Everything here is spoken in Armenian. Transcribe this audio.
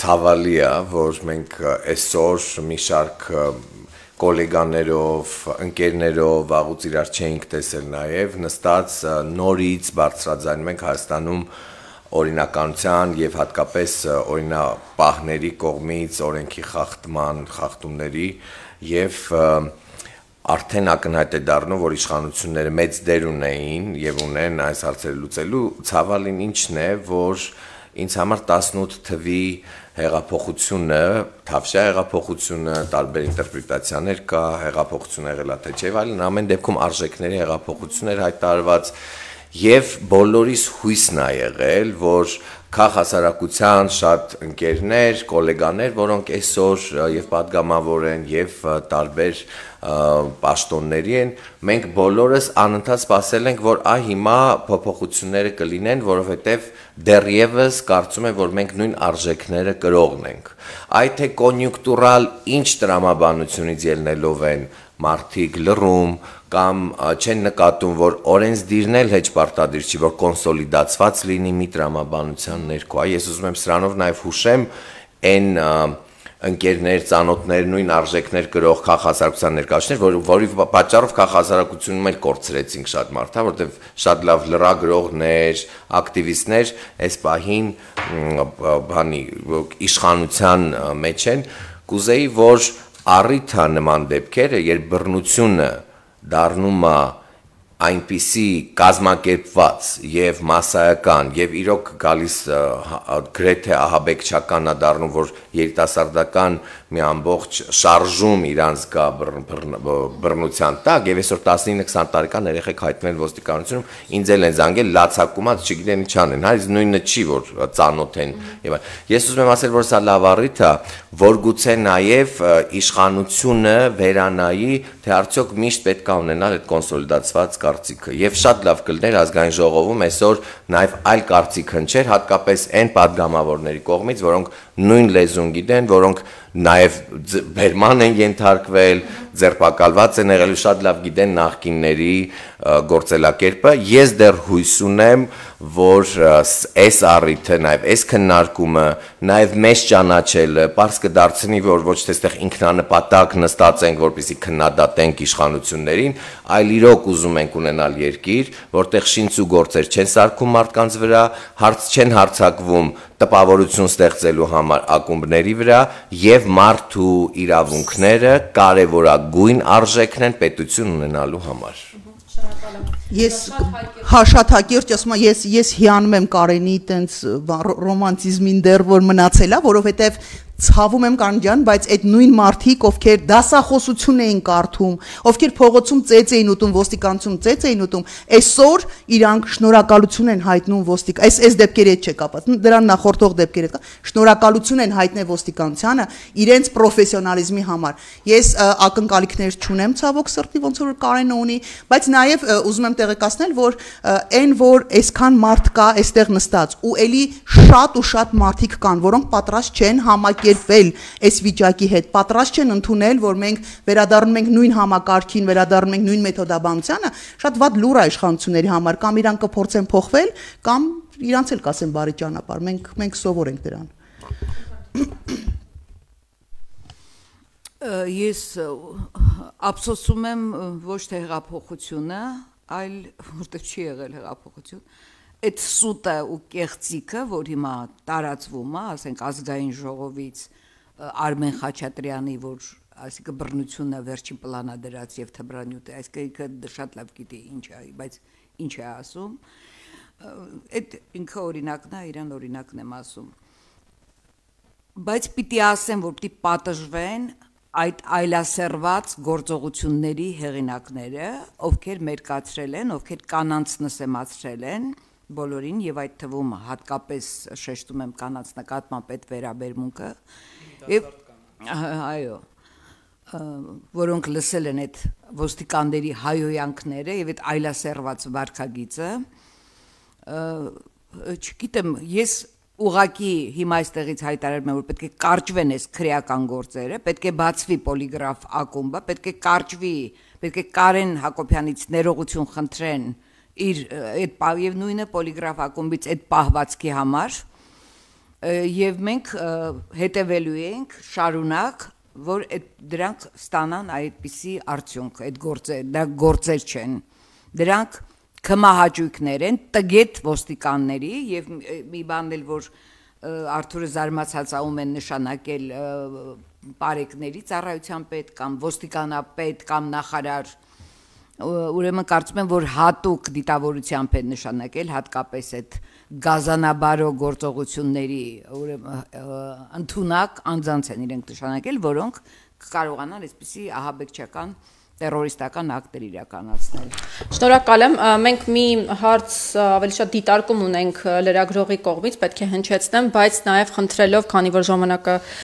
ցավալի է, որ մենք այսօր մի շարք կոլեգաներով, ընկերներով վաղուց իրար չէինք տեսել նաև, նստած նորից բարձրաձայնում ենք Հայաստանում օրինականության եւ հատկապես օրինապահների կողմից օրենքի խախտումների եւ արդեն ակնհայտ է դառնում, որ իշխանությունները մեծ դեր ունեին եւ ունեն այս հարցերը լուծելու, ցավալին ինչն է, որ ինձ համար 18 թվի հեղափոխությունը, Թավշյա հեղափոխությունը, տարբեր ինտերպրետացիաներ կա, հեղափոխությունը եղել է թե չէ, այլն ամեն դեպքում արժեքների հեղափոխություն էր հայտարարված եւ բոլորիս հույսն է եղել, որ քաղաքասարակության շատ ընկերներ, գոլեգաներ, որոնք այսօր եւ падգամավոր են եւ տարբեր պաշտոնների են, մենք բոլորս անընդհատ սպասել ենք, որ հիմա փոփոխությունները կլինեն, որովհետեւ դեռևս կարծում եմ, որ մենք նույն արժեքները կրողն ենք։ Այդ թե կոնյունկտուրալ ինչ տրամաբանությունից ելնելով են մարդիկ լռում կամ չեն նկատում, որ օրենսդիրն էլ հեչ պարտադիր չի, որ կոնսոլիդացված լինի մի տրամաբանության ներքո։ Ես ուզում եմ սրանով նաև հուշեմ այն ընկերներ, ծանոթներ, նույն արժեքներ կրող քաղաքասարակության ներկայացուցիչներ, որի պատճառով քաղաքասարակությունում էլ կորցրեցինք շատ մարդ, որտեղ շատ լավ լրագրողներ, ակտիվիստներ այս պահին իշխանության մեջ են, կուզեի, որ առիթ նման դեպքերը, երբ բռնությունը դառնում է այնպիսի կազմակերպված եւ մասսայական եւ իրոք գալիս գրեթե ահաբեկչական է դառնում, որ երիտասարդական մի ամբողջ շարժում իրանց կա բռնության տակ եւ այսօր 19-20 տարեկան երեխեք հայտնվել ոստիկանությունում, ինձ էլ են զանգել լացակումած, չգիտեն ինչ անեն, այս նույնը չի, որ ծանոթ են եւ ես ուզում եմ ասել, որ սա լավ առիթ է, որ գուցե նաեւ իշխանությունը վերանայի, թե արդյոք միշտ պետք է ունենալ այդ կոնսոլիդացված կարծիքը եւ շատ լավ կլներ ազգային ժողովում այսօր նաեւ այլ կարծիք հնչեր, հատկապես այն падգամավորների կողմից, որոնք նույն լեզուն գիտեն, որոնք նաև բերման են ենթարկվել, ձերբակալված են եղել, շատ լավ գիտեն նախկինների գործելակերպը։ Ես դեռ հույս ունեմ, որ այս առիթը, նաև այս քննարկումը, նաև մեզ ճանաչելը պարզ կդարձնի, որ ոչ թե այստեղ ինքնանպատակ նստած ենք, որպեսզի քննադատենք իշխանություններին, այլ իրոք ուզում ենք ունենալ երկիր, որտեղ շինց ու գործեր չեն սարքում մարդկանց վրա, չեն հարձակվում տպավորություն ստեղծելու համար ակումբների վրա եւ մարդու իրավունքները կարևորագույն արժեքն են պետություն ունենալու համար։ Ես շատ հակիրճ ասում եմ, ես հիանում եմ Կարենի տենց ռոմանտիզմին դեռ որ մնացել է, որովհետեւ ցավում եմ Կանջան, բայց այդ նույն մարդիկ, ովքեր դասախոսություն էին կարդում, ովքեր փողոցում ծեծ էին ուտում, ոստիկանությունում ծեծ էին ուտում, այսօր իրանք շնորհակալություն են հայտնում այս դեպքերի հետ չկապված, դրան նախորդող դեպքերի հետ, շնորհակալություն են հայտնել ոստիկանությանը իրենց պրոֆեսիոնալիզմի համար։ Ես ակնկալիքներ չունեմ ցավոք սրտի, ոնց որ Կարենը ունի, բայց նաև ուզում եմ տեղեկացնել, որ այն որ այսքան մարդ կա այստեղ նստած ու էլի շատ մարդիկ կան, որոնք պատրաստ չեն համակերպվել այս վիճակի հետ, պատրաստ չեն ընդունել, որ մենք վերադառնում ենք նույն համակարգին, վերադառնում ենք նույն մեթոդաբանությանը, շատ վատ լուր է իշխանությունների համար, կամ իրան կփորձեն փոխվել, կամ իրանց էլ կասեն բարի ճանապարհ, մենք սովոր ենք դրան։ Ես ափսոսում եմ ոչ թե հեղափոխությունը, այլ որտեղ չի եղել հեղափոխություն, այդ սուտը ու կեղծիքը, որ հիմա տարածվում է, ասենք ազգային ժողովից Արմեն Խաչատրյանի, որ այսինքն բռնությունը վերջին պլանա դրած եւ թմրանյութը, այսինքն շատ լավ գիտի ինչ է, բայց ինչ է ասում, այդ ինքը օրինակն է, իրան օրինակն եմ ասում, բայց պիտի ասեմ, որ պիտի պատժվեն այդ այլասերված գործողությունների հեղինակները, ովքեր մերկացրել են, ովքեր կանանց նսեմացրել են բոլորին եւ այդ թվում հատկապես շեշտում եմ կանանց նկատմամբ այդ վերաբերմունքը եւ այո որոնք լսել են այդ ոստիկանների հայոյանքները եւ այդ այլասերված վարքագիծը չգիտեմ ես ուղակի հիմա այստեղից հայտարարում եմ որ պետք է կարճվեն այս քրեական գործերը, պետք է բացվի պոլիգրաֆ ակումբը, պետք է կարճվի, պետք է Կարեն Հակոբյանից ներողություն խնդրեն իր այդ եւ նույնը պոլիգրաֆ ակումբից այդ պահվածքի համար եւ մենք հետևելու ենք շարունակ, որ դրանք ստանան այդպիսի արդյունք, այդ գործեր չեն, դրանք կմահաճույքներ են տգետ ոստիկանների եւ մի բան էլ որ Արթուրը զարմացածում են նշանակել բարեկների ծառայության պետ կամ ոստիկանապետ կամ նախարար ուրեմն կարծում եմ որ հատուկ դիտավորությամբ են նշանակել հատկապես այդ գազանաբարո գործողությունների ուրեմն ընդունակ անձանց են իրենք նշանակել որոնք կարողանան այսպիսի ահաբեկչական terroristական ակտեր իրականացնել։ Շնորհակալ եմ, մենք մի հարց ավելի շատ դիտարկում ունենք լրագրողի կողմից, պետք է հնչեցնեմ, բայց նաև խնդրելով, քանի որ ժամանակը